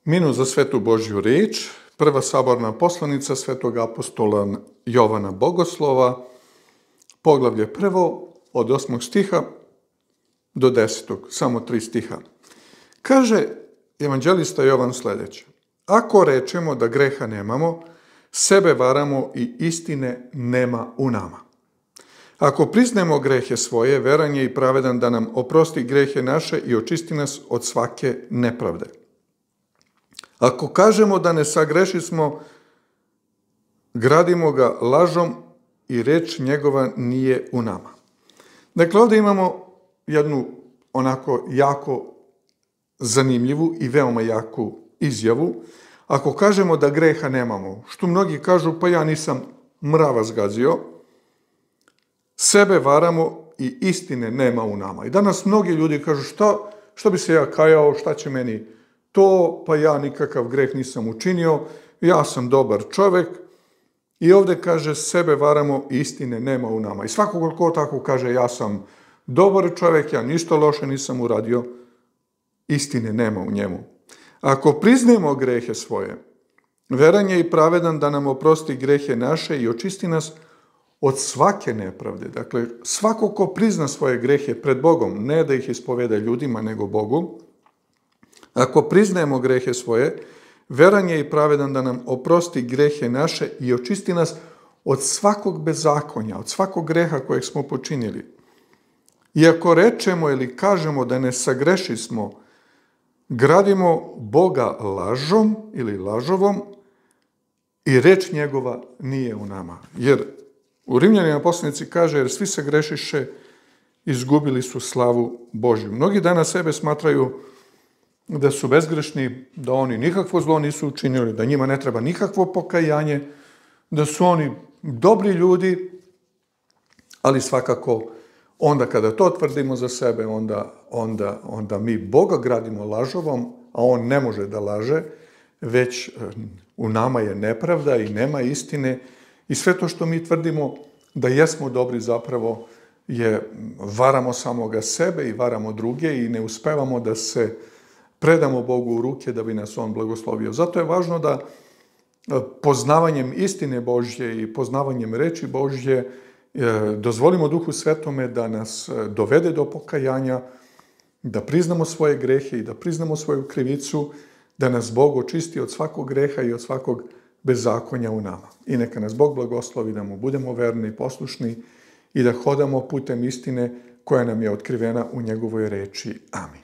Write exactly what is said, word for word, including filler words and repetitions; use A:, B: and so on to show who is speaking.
A: Minut za svetu Božju riječ, prva saborna poslanica svetog apostola Jovana Bogoslova, poglavlje prvo, od osmog stiha do desetog, samo tri stiha. Kaže evanđelista Jovan sljedeće: Ako rečemo da greha nemamo, sebe varamo i istine nema u nama. Ako priznemo grehe svoje, veran je i pravedan da nam oprosti grehe naše i očisti nas od svake nepravde. Ako kažemo da ne sagrešismo, gradimo ga lažom i reč njegova nije u nama. Dakle, ovdje imamo jednu onako jako zanimljivu i veoma jaku izjavu. Ako kažemo da greha nemamo, što mnogi kažu, pa ja nisam mrava zgazio, sebe varamo i istine nema u nama. I danas mnogi ljudi kažu, šta, šta bi se ja kajao, šta će meni to, pa ja nikakav greh nisam učinio, ja sam dobar čovjek. I ovdje kaže, sebe varamo i istine nema u nama. I svakog ko tako kaže, ja sam dobar čovjek, ja ništa loše nisam uradio, istine nema u njemu. Ako priznemo grehe svoje, veran je i pravedan da nam oprosti grehe naše i očisti nas od svake nepravde. Dakle, svako ko prizna svoje grehe pred Bogom, ne da ih ispoveda ljudima, nego Bogu, ako priznajemo grehe svoje, veran je i pravedan da nam oprosti grehe naše i očisti nas od svakog bezakonja, od svakog greha kojeg smo počinili. I ako rečemo ili kažemo da ne sagrešismo, gradimo Boga lažom ili lažovom i reč njegova nije u nama. Jer u Rimljanima poslanici kaže, jer svi sagrešiše, izgubili su slavu Božju. Mnogi danas sebe smatraju da su bezgrešni, da oni nikakvo zlo nisu učinili, da njima ne treba nikakvo pokajanje, da su oni dobri ljudi, ali svakako onda kada to tvrdimo za sebe, onda, onda, onda mi Boga gradimo lažovom, a on ne može da laže, već u nama je nepravda i nema istine i sve to što mi tvrdimo da jesmo dobri zapravo je varamo samoga sebe i varamo druge i ne uspevamo da se predamo Bogu u ruke da bi nas on blagoslovio. Zato je važno da poznavanjem istine Božje i poznavanjem reči Božje dozvolimo Duhu Svetome da nas dovede do pokajanja, da priznamo svoje grehe i da priznamo svoju krivicu, da nas Bog očisti od svakog greha i od svakog bezakonja u nama. I neka nas Bog blagoslovi da mu budemo verni i poslušni i da hodamo putem istine koja nam je otkrivena u njegovoj reči. Amin.